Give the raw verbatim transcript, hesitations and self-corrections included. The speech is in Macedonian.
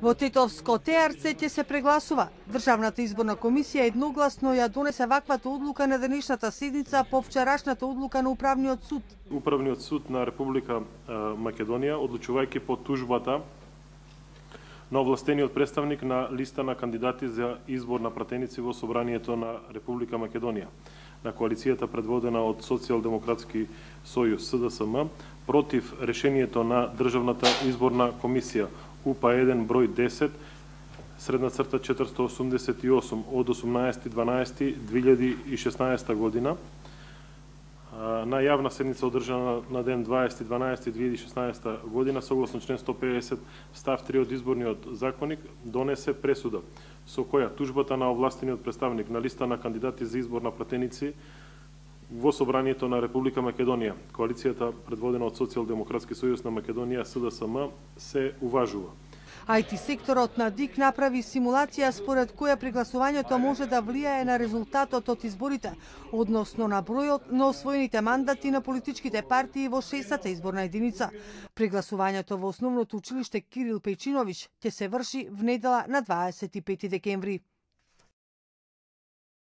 Во Тетовско ТРЦ ќе се прегласува. Државната изборна комисија едногласно ја донесе ваквата одлука на денешната седница по вчерашната одлука на Управниот суд. Управниот суд на Република Македонија, одлучувајќи по тужбата на овластениот представник на листа на кандидати за избор на пратеници во Собранието на Република Македонија, на коалицијата предводена од Социјалдемократски сојуз С Д С М, против решението на Државната изборна комисија У П А еден број десет, средна црта четиристотини осумдесет и осум од осумнаесети дванаесети две илјади и шеснаесета година, на јавна седница одржана на ден дваесети дванаесети две илјади и шеснаесета година, согласно член сто педесет став три од изборниот законник, донесе пресуда со која тужбата на овластениот представник на листа на кандидати за избор на пратеници во Собранието на Република Македонија, коалицијата предводена од Социјалдемократски сојуз на Македонија С Д С М, се уважува. А И Т секторот на ДИК направи симулација според која прегласувањето може да влијае на резултатот од изборите, односно на бројот на освоените мандати на политичките партии во шестата изборна единица. Прегласувањето во основното училиште Кирил Пејчиновиќ ќе се врши внедела на дваесет и пети декември.